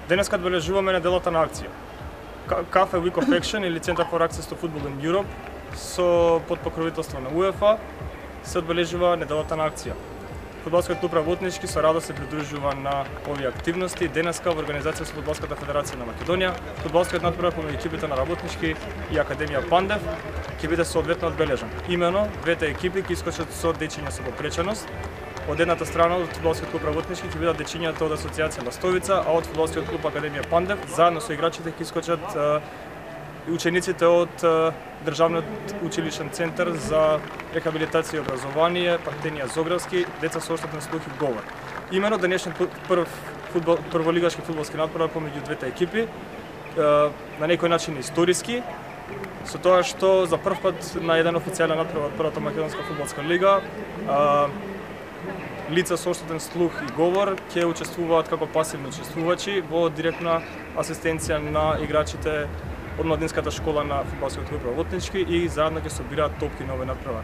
Денеска одбележуваме неделата на акција. Cafe Week of Action или Center for Access to Football in Europe со под покровителство на УЕФА се одбележува неделата на акција. Фудбалскиот клуб Работнички со радост се придружува на овие активности. Денеска во организација со Фудбалската федерација на Македонија, фудбалскиот натпревар помеѓу екипите на Работнички и Академија Пандев ќе биде соодветно одбележан. Имено, двете екипи ќе искочат со дечиња со попреченост. Од едната страна од фудбалскиот клуб Работнички ќе бидат дечињата од Асоциација Ластовица, а од фудбалскиот клуб Академија Пандев заедно со играчите ќе искочат учениците од Државниот училишен центар за рехабилитација и образование Партенија Зографски, деца со оштетен слух и говор. Имено денешниот прволигашки фудбалски натпревар помеѓу двете екипи на некој начин историски, со тоа што за прв пат на еден официјален натпревар од првата македонска фудбалска лига лица со оштетен слух и говор ќе учествуваат како пасивни учествувачи во директна асистенција на играчите од младинската школа на фудбалскиот клуб Работнички и заедно ќе собираат топки на овој натпревар.